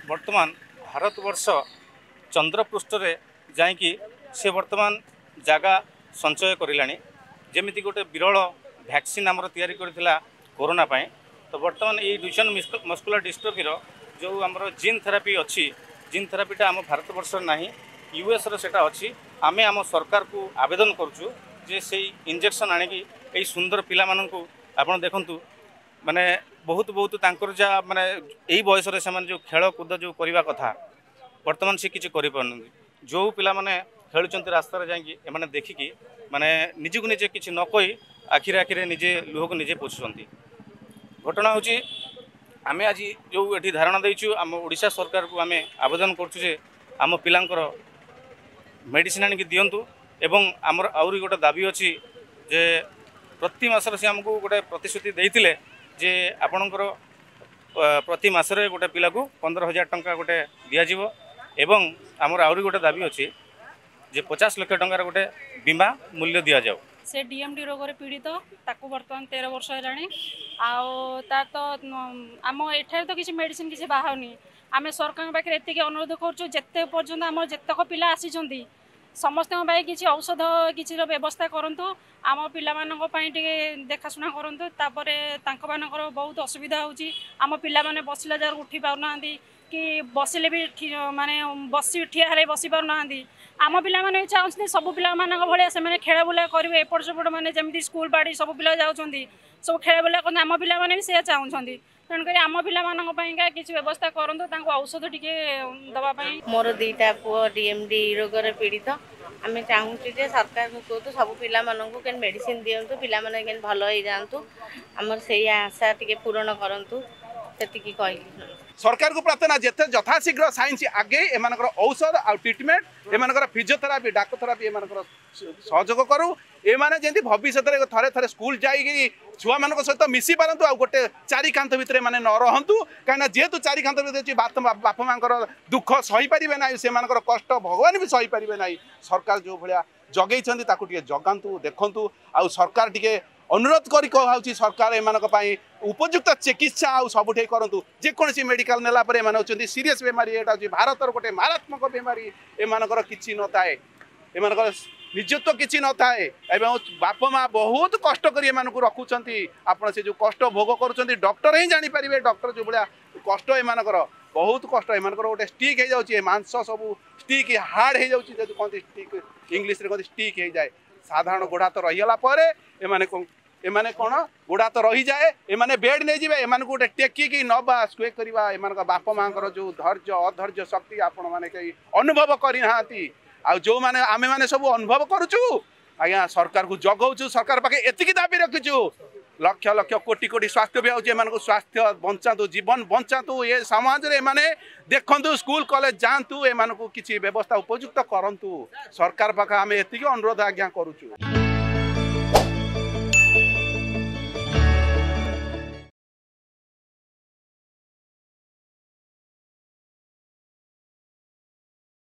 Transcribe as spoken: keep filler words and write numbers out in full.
ବର୍ତ୍ତମାନ ଭାରତବର୍ଷ ଚନ୍ଦ୍ରପୃଷ୍ଠରେ ଯାଇକି ସେ ବର୍ତ୍ତମାନ ଜାଗା ସଞ୍ଚୟ କରିଲାଣି। ଯେମିତି ଗୋଟେ ବିରଳ ଭ୍ୟାକ୍ସିନ୍ ଆମର ତିଆରି କରିଥିଲା କରୋନା ପାଇଁ, ତ ବର୍ତ୍ତମାନ ଏଇ ଡ୍ୟୁଚେନ୍ ମସ୍କୁଲାର ଡିଷ୍ଟ୍ରୋଫିର ଯେଉଁ ଆମର ଜିନ୍ ଥେରାପି ଅଛି, ଜିନ୍ ଥେରାପିଟା ଆମ ଭାରତବର୍ଷରେ ନାହିଁ, ୟୁଏସ୍ର ସେଇଟା ଅଛି। ଆମେ ଆମ ସରକାରକୁ ଆବେଦନ କରୁଛୁ ଯେ ସେଇ ଇଞ୍ଜେକ୍ସନ୍ ଆଣିକି ଏଇ ସୁନ୍ଦର ପିଲାମାନଙ୍କୁ ଆପଣ ଦେଖନ୍ତୁ, ମାନେ ବହୁତ ବହୁତ ତାଙ୍କର ଯାହା ମାନେ ଏଇ ବୟସରେ ସେମାନେ ଯେଉଁ ଖେଳକୁଦ ଯେଉଁ କରିବା କଥା, ବର୍ତ୍ତମାନ ସେ କିଛି କରିପାରୁନାହାନ୍ତି। ଯେଉଁ ପିଲାମାନେ ଖେଳୁଛନ୍ତି ରାସ୍ତାରେ ଯାଇକି, ଏମାନେ ଦେଖିକି ମାନେ ନିଜକୁ ନିଜେ କିଛି ନ କହି ଆଖିରେ ଆଖିରେ ନିଜେ ଲୁହକୁ ନିଜେ ପୋଛୁଛନ୍ତି। ଘଟଣା ହେଉଛି, ଆମେ ଆଜି ଯେଉଁ ଏଠି ଧାରଣା ଦେଇଛୁ, ଆମ ଓଡ଼ିଶା ସରକାରକୁ ଆମେ ଆବେଦନ କରୁଛୁ ଯେ ଆମ ପିଲାଙ୍କର ମେଡ଼ିସିନ୍ ଆଣିକି ଦିଅନ୍ତୁ। ଏବଂ ଆମର ଆହୁରି ଗୋଟେ ଦାବି ଅଛି ଯେ ପ୍ରତି ମାସରେ ସେ ଆମକୁ ଗୋଟେ ପ୍ରତିଶ୍ରୁତି ଦେଇଥିଲେ ଯେ ଆପଣଙ୍କର ପ୍ରତି ମାସରେ ଗୋଟେ ପିଲାକୁ ପନ୍ଦର ହଜାର ଟଙ୍କା ଗୋଟେ ଦିଆଯିବ। ଏବଂ ଆମର ଆହୁରି ଗୋଟେ ଦାବି ଅଛି ଯେ ପଚାଶ ଲକ୍ଷ ଟଙ୍କାର ଗୋଟେ ବୀମା ମୂଲ୍ୟ ଦିଆଯାଉ। ସେ ଡିଏମ୍ଡି ରୋଗରେ ପୀଡ଼ିତ, ତାକୁ ବର୍ତ୍ତମାନ ତେର ବର୍ଷ ହେଲାଣି। ଆଉ ତା ତ ଆମ ଏଠାରେ ତ କିଛି ମେଡ଼ିସିନ କିଛି ବାହାରୁନି। ଆମେ ସରକାରଙ୍କ ପାଖରେ ଏତିକି ଅନୁରୋଧ କରୁଛୁ, ଯେତେ ପର୍ଯ୍ୟନ୍ତ ଆମର ଯେତେକ ପିଲା ଆସିଛନ୍ତି ସମସ୍ତଙ୍କ ପାଇଁ କିଛି ଔଷଧ କିଛିର ବ୍ୟବସ୍ଥା କରନ୍ତୁ, ଆମ ପିଲାମାନଙ୍କ ପାଇଁ ଟିକେ ଦେଖାଶୁଣା କରନ୍ତୁ। ତାପରେ ତାଙ୍କମାନଙ୍କର ବହୁତ ଅସୁବିଧା ହେଉଛି। ଆମ ପିଲାମାନେ ବସିଲା ଜାଗାରୁ ଉଠି ପାରୁନାହାନ୍ତି କି ବସିଲେ ବି ମାନେ ବସି ଠିଆ ହେଲେ ବସି ପାରୁନାହାନ୍ତି। ଆମ ପିଲାମାନେ ବି ଚାହୁଁଛନ୍ତି ସବୁ ପିଲାମାନଙ୍କ ଭଳିଆ ସେମାନେ ଖେଳା ବୁଲା କରିବେ ଏପଟ ସେପଟ, ମାନେ ଯେମିତି ସ୍କୁଲ ବାଡ଼ି ସବୁ ପିଲା ଯାଉଛନ୍ତି, ସବୁ ଖେଳା ବୁଲା କରନ୍ତି, ଆମ ପିଲାମାନେ ବି ସେଇଆ ଚାହୁଁଛନ୍ତି। ତେଣୁକରି ଆମ ପିଲାମାନଙ୍କ ପାଇଁକା କିଛି ବ୍ୟବସ୍ଥା କରନ୍ତୁ, ତାଙ୍କୁ ଔଷଧ ଟିକେ ଦେବା ପାଇଁ। ମୋର ଦୁଇଟା ପୁଅ ଡିଏମ୍ଡି ରୋଗରେ ପୀଡ଼ିତ। ଆମେ ଚାହୁଁଛୁ ଯେ ସରକାରଙ୍କୁ କୁହନ୍ତୁ ସବୁ ପିଲାମାନଙ୍କୁ କେମିତି ମେଡ଼ିସିନ ଦିଅନ୍ତୁ, ପିଲାମାନେ କେମିତି ଭଲ ହେଇଯାଆନ୍ତୁ। ଆମର ସେଇ ଆଶା ଟିକେ ପୂରଣ କରନ୍ତୁ, ସେତିକି କହିଲି। ସରକାରକୁ ପ୍ରାର୍ଥନା, ଯେତେ ଯଥାଶୀଘ୍ର ସାଇନ୍ସ ଆଗେଇ ଏମାନଙ୍କର ଔଷଧ ଆଉ ଟ୍ରିଟମେଣ୍ଟ, ଏମାନଙ୍କର ଫିଜିଓଥେରାପି, ଡାକଥେରାପି ଏମାନଙ୍କର ସହଯୋଗ କରୁ। ଏମାନେ ଯେମିତି ଭବିଷ୍ୟତରେ ଥରେ ଥରେ ସ୍କୁଲ ଯାଇକି ଛୁଆମାନଙ୍କ ସହିତ ମିଶି ପାରନ୍ତୁ ଆଉ ଗୋଟେ ଚାରି କାନ୍ଥ ଭିତରେ ଏମାନେ ନ ରହନ୍ତୁ। କାହିଁକିନା ଯେହେତୁ ଚାରି କାନ୍ଥ ଭିତରେ ଅଛି, ବାପା ମାଙ୍କର ଦୁଃଖ ସହିପାରିବେ ନାହିଁ, ସେମାନଙ୍କର କଷ୍ଟ ଭଗବାନ ବି ସହିପାରିବେ ନାହିଁ। ସରକାର ଯେଉଁ ଭଳିଆ ଜଗେଇଛନ୍ତି ତାକୁ ଟିକେ ଜଗାନ୍ତୁ, ଦେଖନ୍ତୁ। ଆଉ ସରକାର ଟିକେ ଅନୁରୋଧ କରି କୁହାହେଉଛି, ସରକାର ଏମାନଙ୍କ ପାଇଁ ଉପଯୁକ୍ତ ଚିକିତ୍ସା ଆଉ ସବୁଠି କରନ୍ତୁ। ଯେକୌଣସି ମେଡ଼ିକାଲ ନେଲା ପରେ ଏମାନେ ହେଉଛନ୍ତି ସିରିୟସ୍ ବେମାରୀ। ଏଇଟା ହେଉଛି ଭାରତର ଗୋଟେ ମାରାତ୍ମକ ବେମାରୀ। ଏମାନଙ୍କର କିଛି ନଥାଏ, ଏମାନଙ୍କର ନିଜତ୍ୱ କିଛି ନଥାଏ ଏବଂ ବାପା ମା ବହୁତ କଷ୍ଟ କରି ଏମାନଙ୍କୁ ରଖୁଛନ୍ତି। ଆପଣ ସେ ଯେଉଁ କଷ୍ଟ ଭୋଗ କରୁଛନ୍ତି ଡକ୍ଟର ହିଁ ଜାଣିପାରିବେ। ଡକ୍ଟର ଯେଉଁ ଭଳିଆ କଷ୍ଟ ଏମାନଙ୍କର, ବହୁତ କଷ୍ଟ ଏମାନଙ୍କର। ଗୋଟେ ଷ୍ଟିକ୍ ହେଇଯାଉଛି, ଏ ମାଂସ ସବୁ ଷ୍ଟିକ୍ ହାର୍ଡ଼ ହେଇଯାଉଛି। ଯଦି କହନ୍ତି ଷ୍ଟିକ୍, ଇଂଲିଶରେ କହନ୍ତି ଷ୍ଟିକ୍ ହେଇଯାଏ। ସାଧାରଣ ଗୋଡ଼ ହାତ ରହିଗଲା ପରେ ଏମାନେ ଏମାନେ କ'ଣ ଗୋଡ଼ ହାତ ରହିଯାଏ, ଏମାନେ ବେଡ୍ ନେଇଯିବେ। ଏମାନଙ୍କୁ ଗୋଟେ ଟେକିକି ନବା ସ୍କୁଏ କରିବା, ଏମାନଙ୍କ ବାପା ମାଆଙ୍କର ଯେଉଁ ଧୈର୍ଯ୍ୟ ଅଧୈର୍ଯ୍ୟ ଶକ୍ତି ଆପଣମାନେ କେହି ଅନୁଭବ କରିନାହାନ୍ତି। ଆଉ ଯେଉଁମାନେ ଆମେମାନେ ସବୁ ଅନୁଭବ କରୁଛୁ ଆଜ୍ଞା, ସରକାରକୁ ଜଗଉଛୁ, ସରକାର ପାଖେ ଏତିକି ଦାବି ରଖିଛୁ। ଲକ୍ଷ ଲକ୍ଷ କୋଟି କୋଟି ସ୍ୱାସ୍ଥ୍ୟ ବି ହେଉଛି, ଏମାନଙ୍କୁ ସ୍ୱାସ୍ଥ୍ୟ ବଞ୍ଚାନ୍ତୁ, ଜୀବନ ବଞ୍ଚାନ୍ତୁ। ଏ ସମାଜରେ ଏମାନେ ଦେଖନ୍ତୁ, ସ୍କୁଲ କଲେଜ ଯାଆନ୍ତୁ, ଏମାନଙ୍କୁ କିଛି ବ୍ୟବସ୍ଥା ଉପଯୁକ୍ତ କରନ୍ତୁ। ସରକାର ପାଖେ ଆମେ ଏତିକି ଅନୁରୋଧ ଆଜ୍ଞା କରୁଛୁ।